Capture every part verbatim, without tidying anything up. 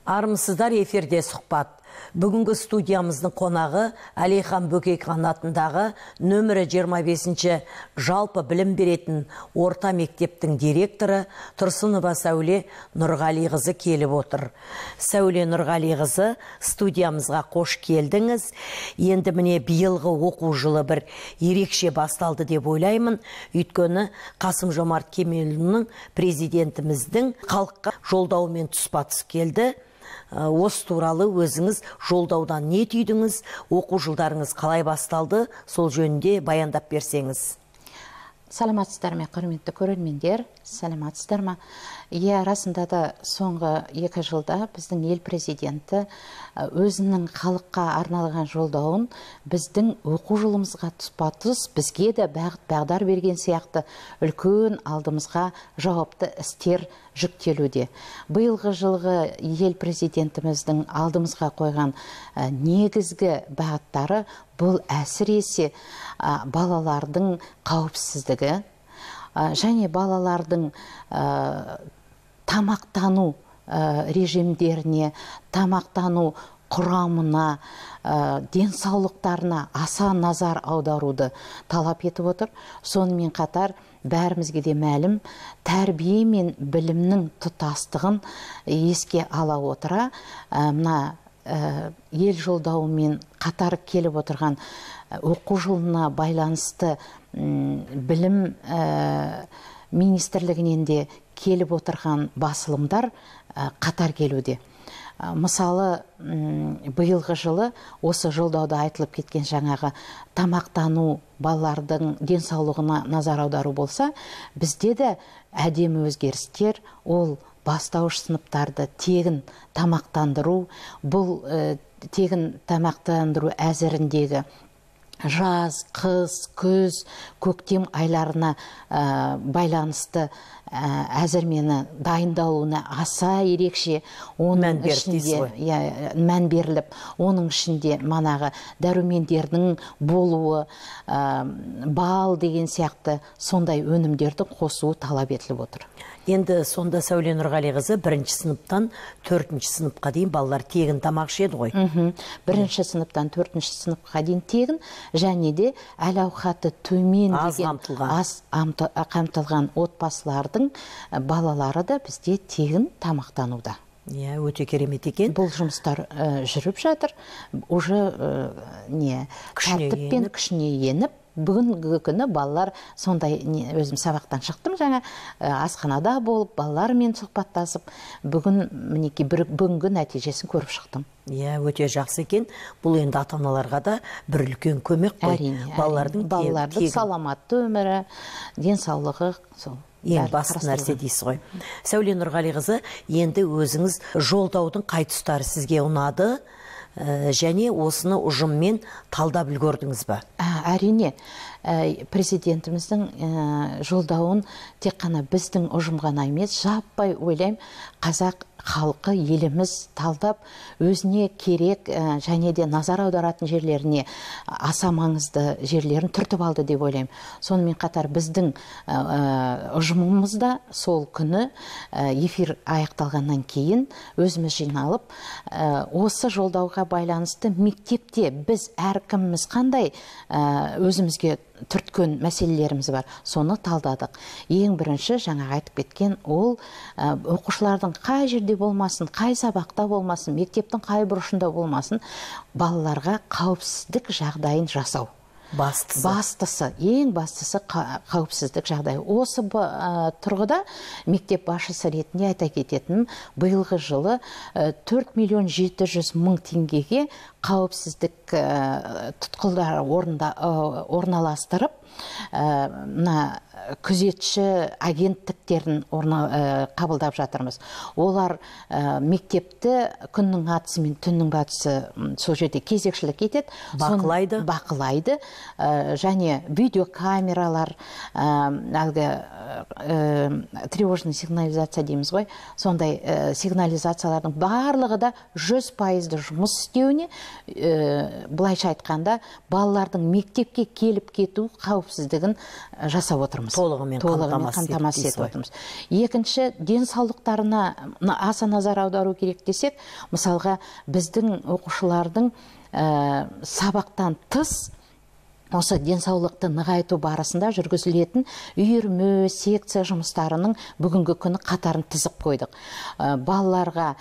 Армысыздар, эфирде сұхбат. Бүгінгі студиямыздың қонағы Әлихан Бөкейхан атындағы нөмірі жиырма бесінші жалпы білім беретін орта мектептің директоры Тұрсынова Сәуле Нұрғалиқызы келіп отыр. Сәуле Нұрғалиқызы, студиямызға қош келдіңіз. Енді міне биылғы оқу жылы бір ерекше басталды деп ойлаймын. Өйткені Қасым-Жомарт Кемелұлының, президентіміздің халыққа жолдауымен тұспа-тұс келді. Осы туралы өзіңіз жолдаудан не түйдіңіз, оқу жылдарыңыз қалай басталды, сол жөнінде баяндап берсеңіз. Саламатсыздар ма, құрметті көрермендер, саламатсыздар ма? Иә, расында да соңғы екі жылда біздің ел президенті өзінің халыққа арналған жолдауын біздің оқу жылымызға тұспа-тұс бізге де бағыт-бағдар берген сияқты үлкен алдымызға жауапты істер жүктелуде. Биылғы жылғы ел президентіміздің алдымызға қойған негізгі бағыттары бұл әсіресе балалардың қауіпсіздігі және балалардың тамақтану режимдеріне, тамақтану құрамына, денсаулықтарына аса назар аударуды талап етіп отыр. Сонымен қатар бәрімізге де мәлім, тәрбие мен білімнің тұтастығын еске ала отыра, мына ел жолдауымен қатар келіп отырған оқу жылына байланысты білім министрлігінен де келіп отырған басылымдар қатар келуде. Мысалы, биылғы жылы осы жолдауда айтылып кеткен жаңағы тамақтану, балалардың денсаулығына назар аудару болса, бізде де әдемі өзгерістер, ол бастауыш сыныптарды тегін тамақтандыру, бұл тегін тамақтандыру әзіріндегі жаз, қыс, күз, көктем айларына байланысты әзірмені дайындалуына аса ерекше оның ішінде мән беріліп, оның ішінде манағы дәрумендердің болуы, бал деген сияқты сондай өнімдерді қосуы талап етіліп отыр. Енді сонда Сәуле Нұрғалиқызы бірінші сыныптан төртінші сыныпқа дейін балалар тегін тамақ ішеді ғой. Бірінші сыныптан төртінші сыныпқа дейін тегін, және де әл-ауқаты төмен деген аз қамтылған отбасылардың балалары да бізде тегін тамақтануда. Иә, өте керемет екен. Бұл жұмыстар жүріп жатыр. Уже тәртіппен күшіне еніп, бүгінгі күні балалар сондай, өзім сабақтан шықтым жаңа, асханада болып, балалармен сұхбаттасып, бүгін мінеки бүгінгі нәтижесін көріп шықтым. Иә, өте жақсы екен. Бұл енді ата-аналарға да бір үлкен көмек қой. Әрине, балалардың саламатты өмірі, денсаулығы сол. Ең басты нәрсе дейсіз ғой. Сәуле Нұрғалиқызы, енді өзіңіз жолдаудың қай тұстары сізге ұнады, және осыны ұжыммен талдап үлгердіңіз ба? Әрине, президентіміздің жолдауын тек қана біздің ұжым ғана емес, жаппай ойлайым, қазақ халқы, еліміз талдап, өзіне керек және де назар аударатын жерлеріне аса маңызды жерлерін түртіп алды деп ойлаймын. Сонымен қатар біздің ұжымымызда сол күні эфир аяқталғаннан кейін өзіміз жиналып, осы жолдауға байланысты мектепте біз әркіміміз қандай өзімізге түрткен мәселелеріміз бар, соны талдадық. Ең бірінші жаңа айтып кеткен ол оқушылардың қай жерде болмасын, қай сабақта болмасын, мектептің қай бұрышында болмасын, балаларға қауіпсіздік жағдайын жасау. Бастысы. Бастысы, ең бастысы қауіпсіздік жағдайы. Осы тұрғыда мектеп басшысы ретінде айта кететінім, биылғы жылы төрт миллион жеті жүз мың теңгеге қауіпсіздік тұтқылдары орналастырып, мына күзетші агенттіктерін қабылдап жатырмыз. Олар мектепті күннің атысы мен түннің батысы сол жерде кезекшілік етеді, бақылайды, бақылайды, және видеокамералар, әлгі тревожный сигнализация дейміз ғой, сондай сигнализациялардың барлығы да жүз пайызды жұмыс істеуіне былайша айтқанда балалардың мектепке келіп кету қауіпсіздігін жасап отырмыз. Толығымен қамтамасыз етіп отырмыз. Екінші, денсаулықтарына аса назар аудару керек десек, мысалға біздің оқушылардың сабақтан тыс осы денсаулықты нығайту барысында жүргізілетін үйірме, секция жұмыстарының бүгінгі күні қатарын тізіп қойдық. Балаларға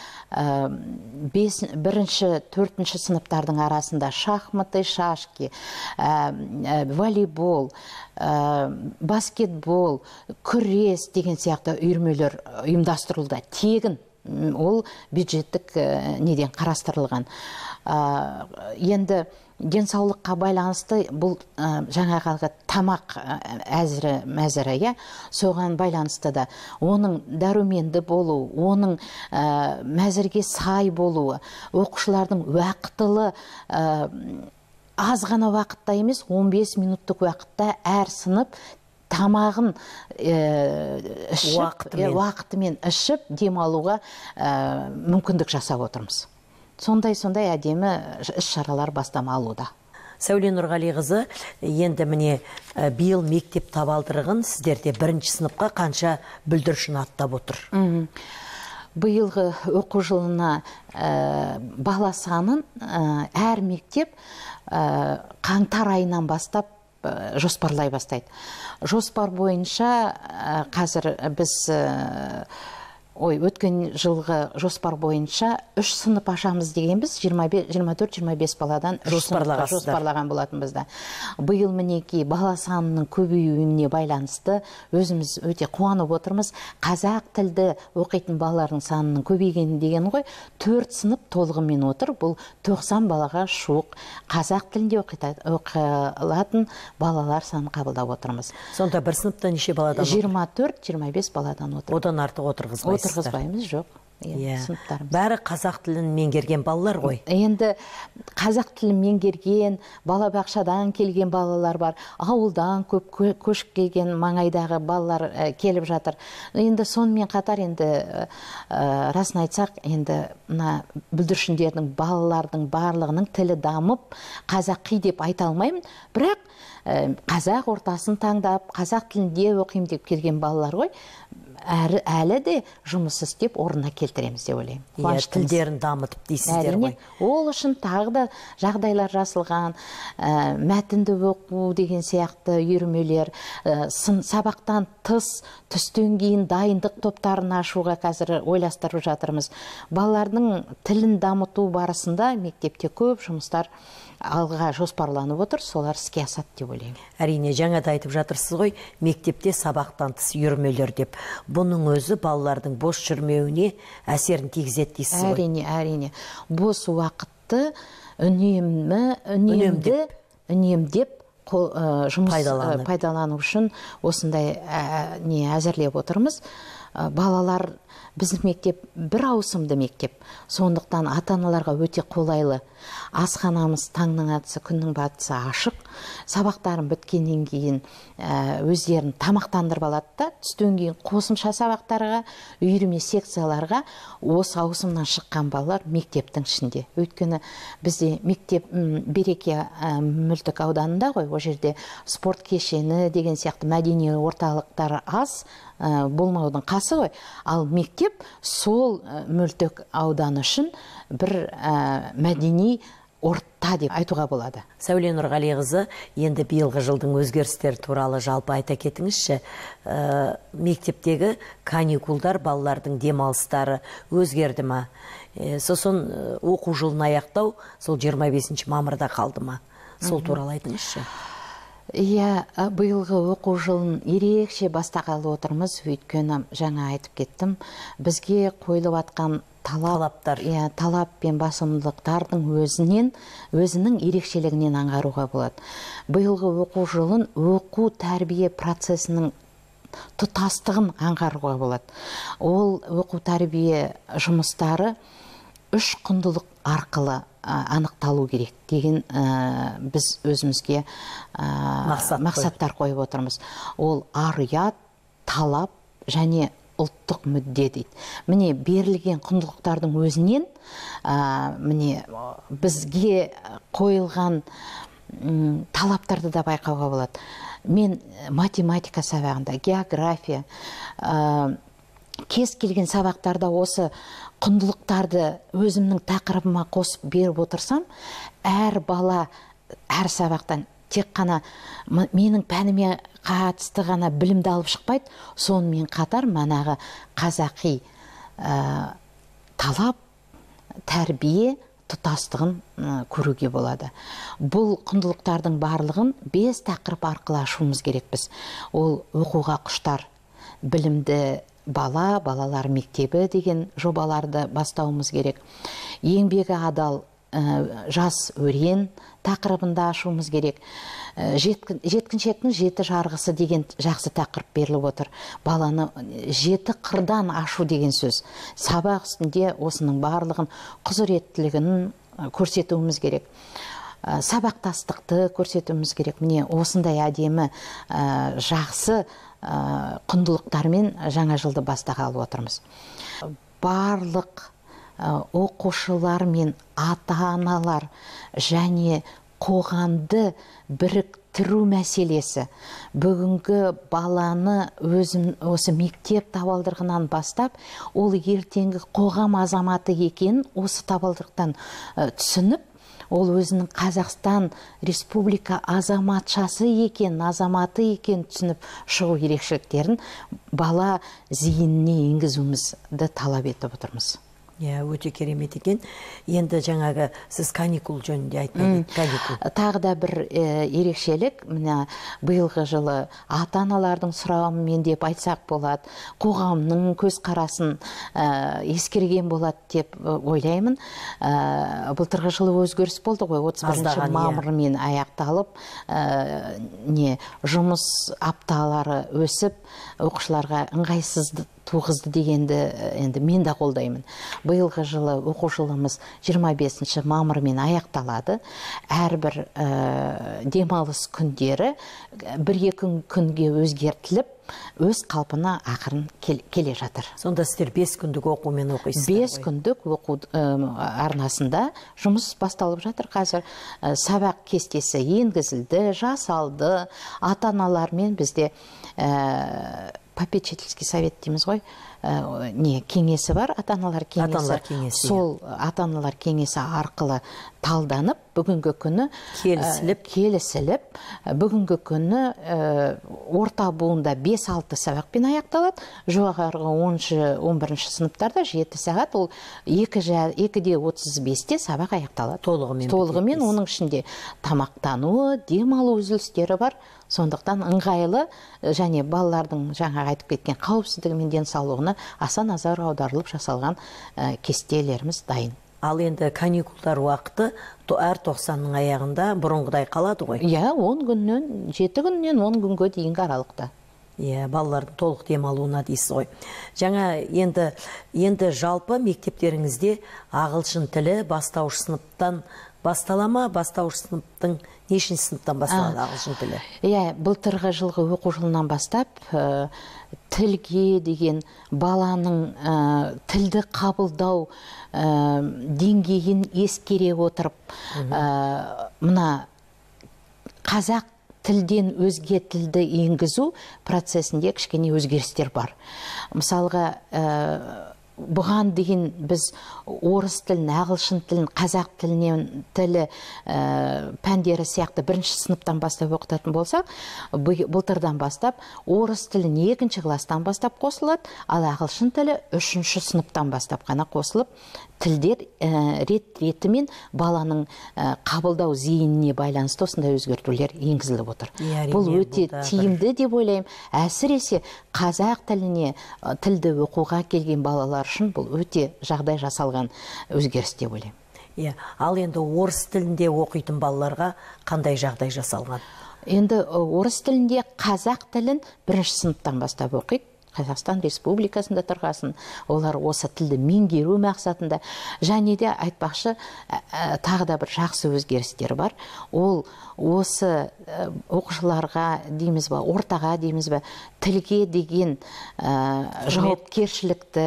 бірінші, төртінші сыныптардың арасында шахматы, шашки, волейбол, баскетбол, күрес деген сияқты үйірмелер ұйымдастырылды. Тегін, ол бюджеттік неден қарастырылған. Енді денсаулыққа байланысты бұл жаңағы тамақ әзірі мәзірі, соған байланысты да оның дәруменді болу, оның мәзірге сай болуы, оқушылардың уақытылы, аз ғана уақытта емес, он бес минуттық уақытта әр сынып тамағын уақытымен ішіп демалуға мүмкіндік жасап отырмыз. Сондай-сондай әдемі іс-шаралар бастама алуда. Сәуле Нұрғалиқызы, енді міне биыл мектеп табалдырығын сіздерде бірінші сыныпқа қанша бүлдіршін аттап отыр? Биылғы оқу жылына бала санын әр мектеп қаңтар айынан бастап жоспарлай бастайды. Жоспар бойынша қазір біз Ой, өткен жылғы жоспар бойынша үш сынып ашамыз дегенбіз, жиырма төрт жиырма бес баладан жоспарлаған болатын бізді. Биыл мінеки бала санының көбеюіне байланысты өзіміз өте қуанып отырмыз. Қазақ тілді оқитын балалардың санының көбейгені деген ғой, төрт сынып толығымен отыр. Бұл тоқсан балаға жуық қазақ тілінде оқылатын балалар санын қабылдап отырмыз. Сонда бір сыныпта неше баладан отыр? жиырма төрт жиырма бес баладан отыр. Одан артық отырғызбайсыз? Отырғызбаймыз, жоқ. Бәрі қазақ тілін меңгерген балалар ғой. Енді қазақ тілін меңгерген, балабақшадан келген балалар бар, ауылдан көп көшіп келген маңайдағы балалар келіп жатыр. Енді сонымен қатар, енді расын айтсақ, енді бүлдіршіндердің, балалардың барлығының тілі дамып, қазақи деп айта алмаймын, бірақ қазақ ортасын таңдап, қазақ тілінде оқимын деп келген балалар ғой, әлі де жұмыс істеп орнына келтіреміз деп ойлаймын. Тілдерін дамытып дейсіздер ғой. Ол үшін тағы да жағдайлар жасылған, мәтінді оқу деген сияқты үйірмелер, сабақтан тыс, түстен кейін дайындық топтарын ашуға қазір ойластырып жатырмыз. Балалардың тілін дамыту барысында мектепте көп жұмыстар алға жоспарланып отыр, солар іске асады деп ойлаймын. Әрине, жаңа да айтып жатырсыз ғой, мектепте сабақтан тыс үйірмелер деп. Бұның өзі балалардың бос жүрмеуіне әсерін тигізеді дейсіз ғой. Әрине, әрине. Бос уақытты үнемді, үнемді, үнемдеп жұмыс пайдалану үшін осындай не әзірлеп отырмыз. Балалар, біздің мектеп бір ауысымды мектеп, сондықтан ата-аналарға өте қолайлы. Асханамыз таңның атысы, күннің батысы ашық. Сабақтарын біткеннен кейін өздерін тамақтандырып алады да, түстен кейін қосымша сабақтарға, үйірме секцияларға осы ауысымнан шыққан балалар мектептің ішінде. Өйткені бізде мектеп Береке мөлтек ауданында ғой, о жерде спорт кешені деген сияқты мәдени орталықтары аз, болмаудың қасы ғой. Ал мектеп сол мөлтек ауданы үшін бір мәдени орта деп айтуға болады. Сәуле Нұрғалиқызы, енді биылғы жылдың өзгерістері туралы жалпы айта кетіңізші. Мектептегі каникулдар, балалардың демалыстары өзгерді ма? Сосын оқу жылын аяқтау сол жиырма бесінші мамырда қалды ма? Сол туралы айтыңызшы. Иә, биылғы оқу жылын ерекше бастағалы отырмыз, өйткені жаңа айтып кеттім, бізге қойылып атқан талаптар, талап пен басымдылықтардың өзінен, өзінің ерекшелігінен аңғаруға болады. Биылғы оқу жылын оқу тәрбие процесінің тұтастығын аңғаруға болады. Ол оқу тәрбие жұмыстары үш құндылық арқылы анықталу керек деген біз өзімізге мақсаттар қойып отырмыз. Ол ар-ұят, талап және ұлттық мүдде дейді. Міне берілген құндылықтардың өзінен ә, міне бізге қойылған м, талаптарды да байқауға болады. Мен математика сабағында, география, ә, кез келген сабақтарда осы құндылықтарды өзімнің тақырыбыма қосып беріп отырсам, әр бала әр сабақтан тек қана менің пәніме қатысты ғана білімді алып шықпайды, сонымен қатар манағы қазақи ә, талап, тәрбие, тұтастығын ә, көруге болады. Бұл құндылықтардың барлығын бес тақырып арқылы ашуымыз керекпіз. Ол оқуға құштар, білімді бала, балалар мектебі деген жобаларды бастауымыз керек. Еңбегі адал, ә, жас өрен тақырыбында ашуымыз керек. Жеткін, жеткіншектің жеті жарғысы деген жақсы тақырып беріліп отыр. Баланы жеті қырдан ашу деген сөз. Сабақ үстінде осының барлығын құзыреттілігін көрсетуіміз керек. Сабақтастықты көрсетуіміз керек. Міне осындай әдемі ә, жақсы ә, құндылықтармен жаңа жылды бастағалы отырмыз. Барлық ә, оқушылар мен ата-аналар және қоғамды біріктіру мәселесі бүгінгі баланы өзім осы мектеп табалдырығынан бастап, ол ертеңгі қоғам азаматы екенін осы табалдырықтан ә, түсініп, ол өзінің Қазақстан Республика азаматшасы екен, азаматы екен түсініп шығу ерекшеліктерін бала зейініне енгізуімізді талап етіп отырмыз. Иә, өте керемет екен. Енді жаңағы сіз каникул жөнінде айтты. Каникул. Тағы да бір ә, ерекшелік, міне биылғы жылы ата-аналардың сұрауымен деп айтсақ болады, қоғамның көзқарасын ә, ескерген болады деп ойлаймын. Ә, былтырғы жылы өзгеріс болды ғой, отыз бірінші мамырмен аяқталып, ә, не жұмыс апталары өсіп, оқушыларға ыңғайсызды туғызды дегенді енді мен де қолдаймын. Биылғы жылы оқу жылымыз жиырма бесінші мамырмен аяқталады. Әрбір ә, демалыс күндері бір-екі күнге өзгертіліп, өз қалпына ақырын кел, келе жатыр. Сонда сіздер бес күндік оқумен оқисыздар ғой? Бес күндік оқу ә, арнасында жұмыс басталып жатыр қазір. Ә, сабақ кестесі енгізілді, жасалды. Ата-аналармен бізде ә, попечительский совет дейміз ғой, ә, не кеңесі бар, ата-аналар кеңесі. Ата-аналар кеңесі. Сол ата-аналар кеңесі арқылы талданып, бүгінгі күні келісіліп, ә, келісіліп, бүгінгі күні ә, орта буында бес-алты сабақпен аяқталады. Жоғарғы оныншы он бірінші сыныптарда жеті сағат, ол екі де отыз бесте сабақ аяқталады. Толығымен. Толығымен, оның ішінде тамақтануы, демалу үзілістері бар. Сондықтан ыңғайлы және балалардың жаңа айтып кеткен қауіпсіздігі мен денсаулығына аса назар аударылып жасалған ә, кестелеріміз дайын. Ал енді каникулдар уақыты әр тоқсанның аяғында бұрынғыдай қалады ғой? Иә, он күннен, жеті күннен он күнге дейінгі аралықта. Иә, балалардың толық демалуына дейсіз ғой. Жаңа енді енді жалпы мектептеріңізде ағылшын тілі бастауыш сыныптан бастала ма, бастауыш сыныптың нешінші сыныптан басталады ағылшын тілі? Иә, былтырғы жылғы оқу жылынан бастап ә, тілге деген баланың ә, тілді қабылдау ә, деңгейін ескере отырып, ә, мына қазақ тілден өзге тілді енгізу процесінде кішкене өзгерістер бар. Мысалға, ә, бұған дейін біз орыс тілін, ағылшын тілін, қазақ тілінен тілі ә, пәндері сияқты бірінші сыныптан бастап оқытатын болсақ, былтырдан бастап орыс тілін екінші класстан бастап қосылады, ал ағылшын тілі үшінші сыныптан бастап қана қосылып, тілдер ә, рет-ретімен баланың ә, қабылдау зейініне байланысты осындай өзгертулер енгізіліп отыр. Бұл өте тиімді деп ойлаймын. Әсіресе қазақ тіліне тілді оқуға келген балалар үшін бұл өте жағдай жасалған өзгеріс деп ойлаймын. Иә, ал енді орыс тілінде оқитын балаларға қандай жағдай жасалған? Енді орыс тілінде қазақ тілін бірінші сыныптан бастап оқиды. Қазақстан Республикасында тұрғасын, олар осы тілді меңгеру мақсатында, және де айтпақшы тағы да бір жақсы өзгерістер бар. Ол осы оқушыларға дейміз ба, ортаға дейміз ба, тілге деген жауапкершілікті,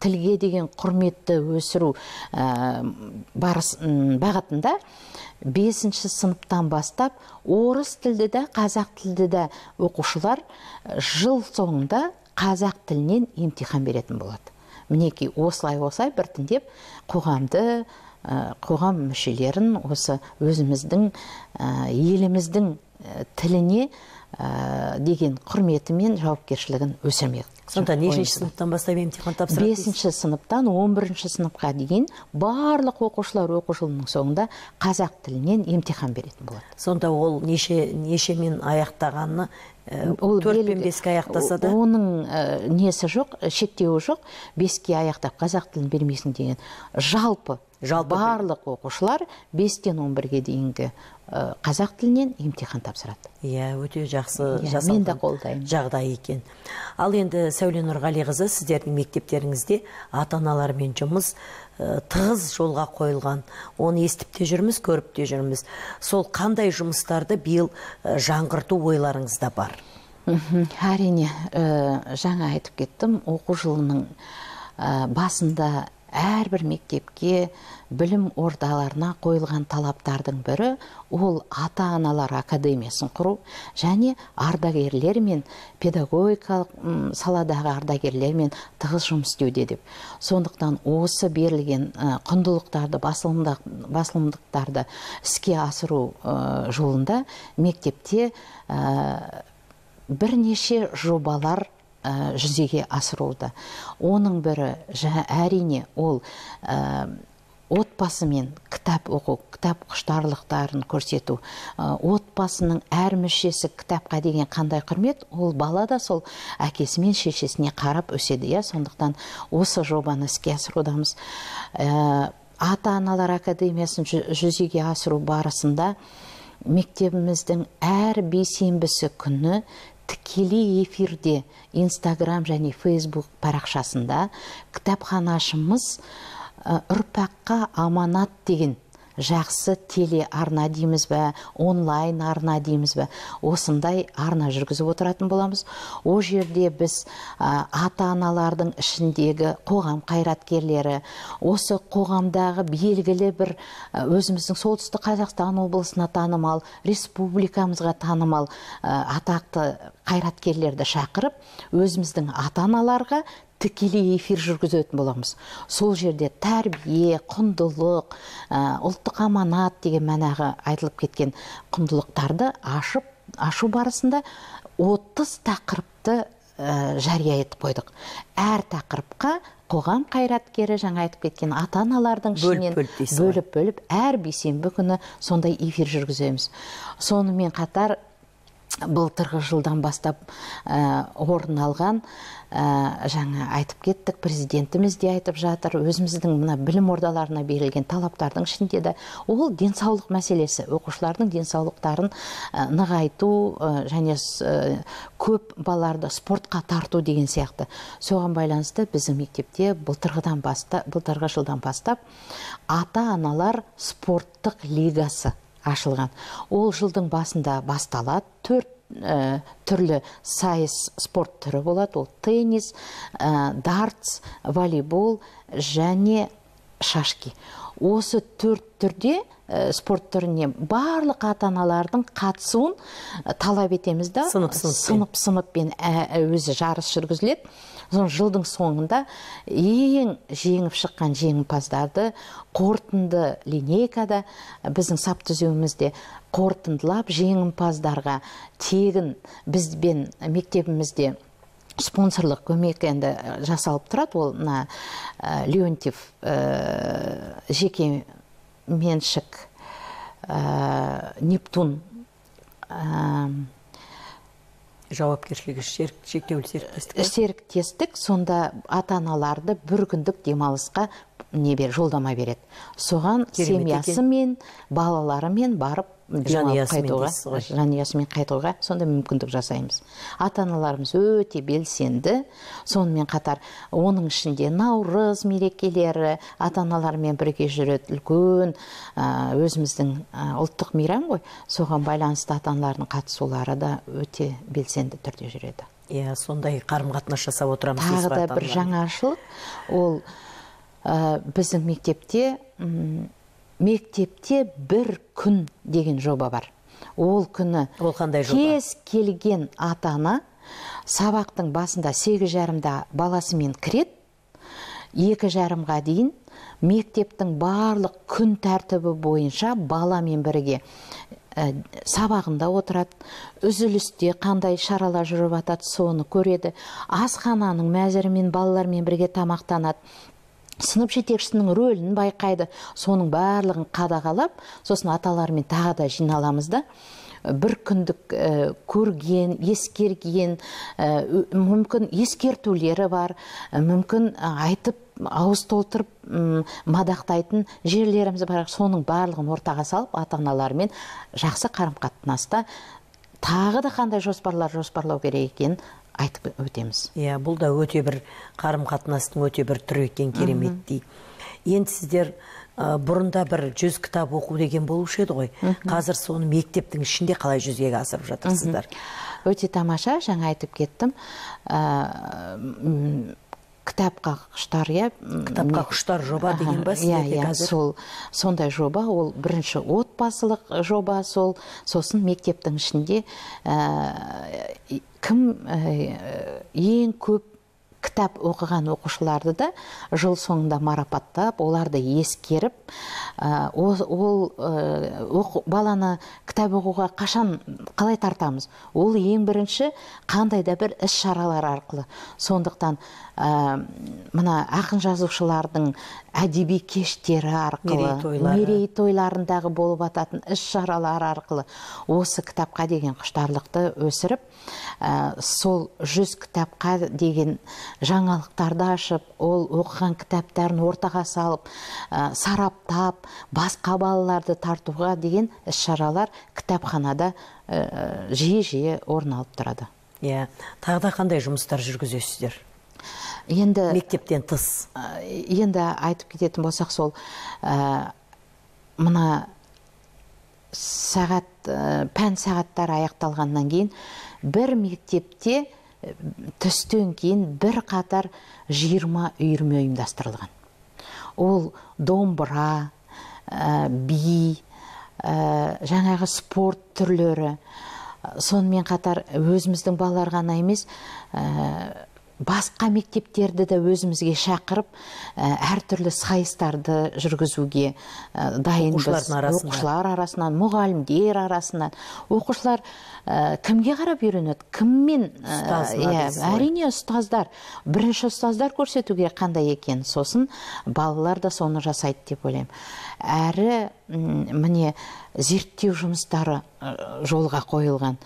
тілге деген құрметті өсіру бағытында бесінші сыныптан бастап орыс тілді де, қазақ тілді де оқушылар жыл соңында қазақ тілінен емтихан беретін болады. Мінекей осылай-осылай біртіндеп қоғамды, қоғам мүшелерін осы өзіміздің еліміздің тіліне деген құрметі мен жауапкершілігін өсірмек. Сонда нешінші сыныптан бастап емтихан тапсырады? Бесінші сыныптан он бірінші сыныпқа дейін барлық оқушылар оқу жылының соңында қазақ тілінен емтихан беретін болады. Сонда ол неше нешемен аяқтағаны, төрт пен беске аяқтаса да? Оның несі жоқ, шектеуі жоқ. Беске аяқтап қазақ тілін бермесін деген жалпы барлық оқушылар бестен он бірге дейінгі қазақ тілінен емтихан тапсырады. Иә, өте жақсы жасалған жағдай екен. Ал енді Сәуле Нұрғалиқызы, сіздердің мектептеріңізде ата-аналармен жұмыс тығыз жолға қойылған. Оны естіп те жүрміз, көріп те жүрміз. Сол қандай жұмыстарды биыл жаңғырту ойларыңызда бар? Әрине, жаңа айтып кеттім, оқу жылының басында әрбір мектепке, білім ордаларына қойылған талаптардың бірі ол ата-аналар академиясын құру және ардагерлер мен педагогикалық саладағы ардагерлермен тығыз жұмыс істеуде деп. Сондықтан осы берілген құндылықтарды, басылымдықтарды іске асыру жолында мектепте бірнеше жобалар жүзеге асыруда. Оның бірі әрине ол отбасымен кітап оқу, кітап құштарлықтарын көрсету. Отбасының әр мүшесі кітапқа деген қандай құрмет, ол бала да сол әкесі мен шешесіне қарап өседі. Сондықтан осы жобаны іске асырудамыз. Ата-аналар академиясын жүзеге асыру барысында мектебіміздің әр бейсенбісі күні тікелей эфирде Инстаграм және Фейсбук парақшасында кітапханашымыз ұрпаққа аманат деген жақсы теле арна дейміз бе, онлайн арна дейміз бе, осындай арна жүргізіп отыратын боламыз. О жерде біз ата-аналардың ішіндегі қоғам қайраткерлері, осы қоғамдағы белгілі бір өзіміздің Солтүстік Қазақстан облысына танымал, республикамызға танымал атақты қайраткерлерді шақырып, өзіміздің ата-аналарға тікелей эфир жүргізетін боламыз. Сол жерде тәрбие, құндылық, ұлттық аманат деген мәнағы айтылып кеткен құндылықтарды ашып, ашу барысында отыз тақырыпты жария етіп қойдық. Әр тақырыпқа қоғам қайраткері, жаңа айтып кеткен ата-аналардың ішінен бөліп-бөліп әр бейсенбі күні сондай эфир жүргіземіз. Сонымен қатар былтырғы жылдан бастап орын алған, жаңа айтып кеттік, президентіміз де айтып жатыр, өзіміздің мына білім ордаларына берілген талаптардың ішінде де ол денсаулық мәселесі, оқушылардың денсаулықтарын нығайту және көп балаларды спортқа тарту деген сияқты. Соған байланысты біздің мектепте былтырғыдан бастап, былтырғы жылдан бастап ата-аналар спорттық лигасы ашылған. Ол жылдың басында басталады. Төрт түрлі сайыс спорт түрі болады. Ол теннис, дартс, волейбол және шашки. Осы төрт түрде спорт түріне барлық ата-аналардың қатысуын талап етеміз да, сынып-сыныппен өзі жарыс жүргізіледі. Жылдың соңында ең жеңіп шыққан жеңімпаздарды қорытынды линейкада біздің сап түзеуімізде қорытындылап, жеңімпаздарға тегін бізбен мектебімізде спонсорлық көмек енді жасалып тұрады. Ол мына Леонтьев жеке меншік Нептун жауапкершілігі шектеулі серіктестік. Серіктестік сонда ата-аналарды бір күндік демалысқа не бер жолдама береді. Соған семьясымен, балаларымен барып демалып қайтуға, жанұясымен қайтуға сонда мүмкіндік жасаймыз. Ата-аналарымыз өте белсенді. Сонымен қатар оның ішінде Наурыз мерекелері ата-аналармен бірге жүреді. Үлкен өзіміздің ұлттық мейрам ғой. Соған байланысты ата-аналардың қатысулары да өте белсенді түрде жүреді. Иә, сондай қарым-қатынас жасап отырамыз. Тағы да бір жаңашылық, ол біздің мектепте мектепте бір күн деген жоба бар. Ол күні кез келген ата-ана сабақтың басында сегіз жарымда баласымен кіреді, екі жарымға дейін мектептің барлық күн тәртібі бойынша баламен бірге сабағында отырады, үзілісте қандай шаралар жүріп жатады, соны көреді, асхананың мәзірімен балалармен бірге тамақтанады, сынып жетекшісінің рөлін байқайды, соның барлығын қадағалап, сосын аталармен тағы да жиналамыз да, бір күндік көрген, ескерген, мүмкін ескертулері бар, мүмкін айтып, ауыз толтырып мадақтайтын жерлеріміз бар, соның барлығын ортаға салып, ата-аналармен жақсы қарым-қатынаста тағы да қандай жоспарлар жоспарлау керек екенін айтып өтеміз. Иә, бұл да өте бір қарым-қатынастың өте бір түрі екен, кереметтей. Енді сіздер бұрында бір жүз кітап оқу деген болушы еді ғой. Қазір соны мектептің ішінде қалай жүзеге асырып жатырсыздар? Өте тамаша, жаңа айтып кеттім. Кітапқа құштар, иә. Кітапқа құштар жоба деген ба сіздерде қазір? Сол, сондай жоба, ол бірінші отбасылық жоба, сол, сосын мектептің ішінде кім ең көп кітап оқыған оқушыларды да жыл соңында марапаттап, оларды ескеріп, ол баланы кітап оқуға қашан қалай тартамыз? Ол ең бірінші қандай да бір іс шаралар арқылы. Сондықтан мына ақын жазушылардың әдеби кештері арқылы, мерейтойларындағы болып ататын іс шаралар арқылы осы кітапқа деген құштарлықты өсіріп, сол жүз кітапқа деген жаңалықтарды ашып, ол оқыған кітаптарын ортаға салып, сараптап, басқа балаларды тартуға деген іс шаралар кітапханада жиі-жиі орын алып тұрады. Иә, тағы да қандай жұмыстар жүргізесіздер? Енді мектептен тыс. Енді айтып кететін болсақ, сол мына сағат, пән сағаттар аяқталғаннан кейін бір мектепте түстен кейін бір қатар жиырма үйірме ұйымдастырылған. Ол домбыра, би, жаңағы спорт түрлері, сонымен қатар өзіміздің балалар ғана емес, басқа мектептерді де өзімізге шақырып, әртүрлі сайыстарды жүргізуге дайынбыз. Оқушылар арасынан, мұғалімдер арасынан. Оқушылар кімге қарап үйренеді? Кіммен? Әрине ұстаздар. Бірінші ұстаздар көрсетуге қандай екен. Сосын балалар да соны жасайды деп ойлаймын. Әрі, міне, зерттеу жұмыстары жолға қойылған.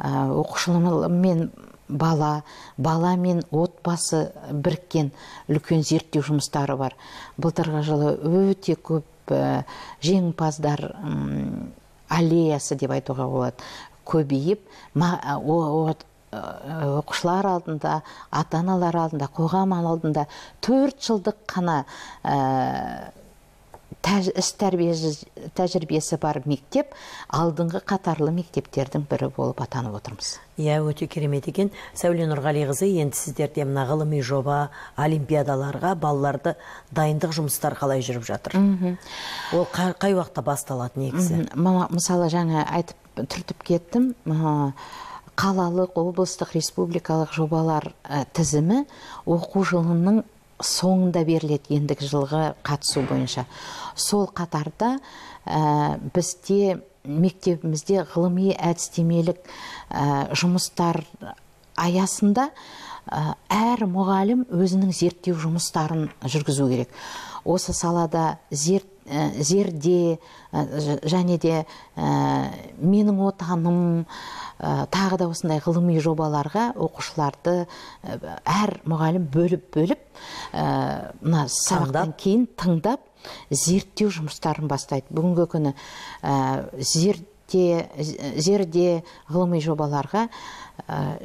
Оқушылармен бала, бала мен отбасы біріккен үлкен зерттеу жұмыстары бар. Былтырғы жылы өте көп жеңімпаздар аллеясы деп айтуға болады, көбейіп, оқушылар алдында, ата-аналар алдында, қоғам алдында төрт жылдық қана іс тәжірибесі бар мектеп, алдыңғы қатарлы мектептердің бірі болып атанып отырмыз. Иә, өте керемет екен. Сәуле Нұрғалиқызы, енді сіздерде мына ғылыми жоба, олимпиадаларға балаларды дайындық жұмыстар қалай жүріп жатыр? Ол қай уақытта басталады негізі? Мысалы, жаңа айтып түртіп кеттім, қалалық, облыстық, республикалық жобалар тізімі оқу жылының соңында беріледі ендігі жылғы қатысу бойынша. Сол қатарда бізде мектебімізде ғылыми әдістемелік жұмыстар аясында әр мұғалім өзінің зерттеу жұмыстарын жүргізу керек. Осы салада зерде, және де менің отаным, тағы да осындай ғылыми жобаларға оқушыларды әр мұғалім бөліп-бөліп мына сабақтан кейін тыңдап зерттеу жұмыстарын бастайды. Бүгінгі күні зерде, зерде ғылыми жобаларға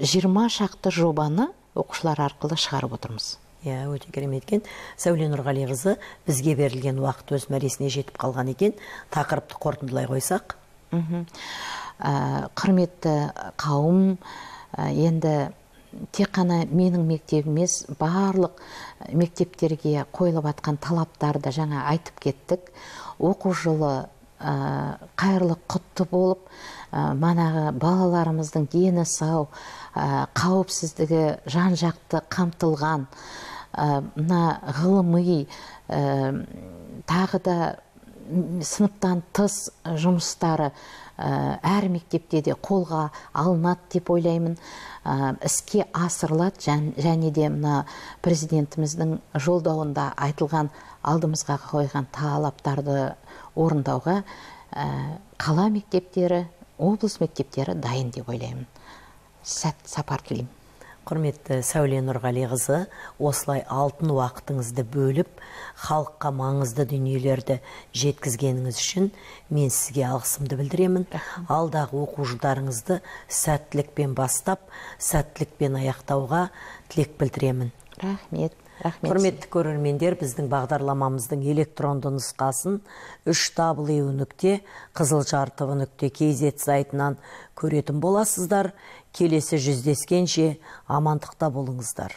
жиырма шақты жобаны оқушылар арқылы шығарып отырмыз. Иә, өте керемет екен. Сәуле Нұрғалиқызы, бізге берілген уақыт өз мәресіне жетіп қалған екен. Тақырыпты қорытындылай қойсақ. Құрметті қауым, енді тек қана менің мектебім емес, барлық мектептерге қойылып атқан талаптарды жаңа айтып кеттік. Оқу жылы қайырлы құтты болып, манағы балаларымыздың дені сау, қауіпсіздігі жан-жақты қамтылған, мына ғылыми, тағы да сыныптан тыс жұмыстары әр мектепте де қолға алынады деп ойлаймын, іске асырылады, және де мына президентіміздің жолдауында айтылған алдымызға қойған талаптарды орындауға қала мектептері, облыс мектептері дайын деп ойлаймын. Сәт сапар тілеймін. Құрметті Сәуле Нұрғалиқызы, осылай алтын уақытыңызды бөліп, халыққа маңызды дүниелерді жеткізгеніңіз үшін мен сізге алғысымды білдіремін. Алдағы оқу жылдарыңызды сәттілікпен бастап, сәттілікпен аяқтауға тілек білдіремін. Рахмет. Құрметті көрермендер, біздің бағдарламамыздың электронды нұсқасын үш дабл ю нүкте қызылжар тв нүкте кз сайтынан көретін боласыздар. Келесі жүздескенше амандықта болыңыздар.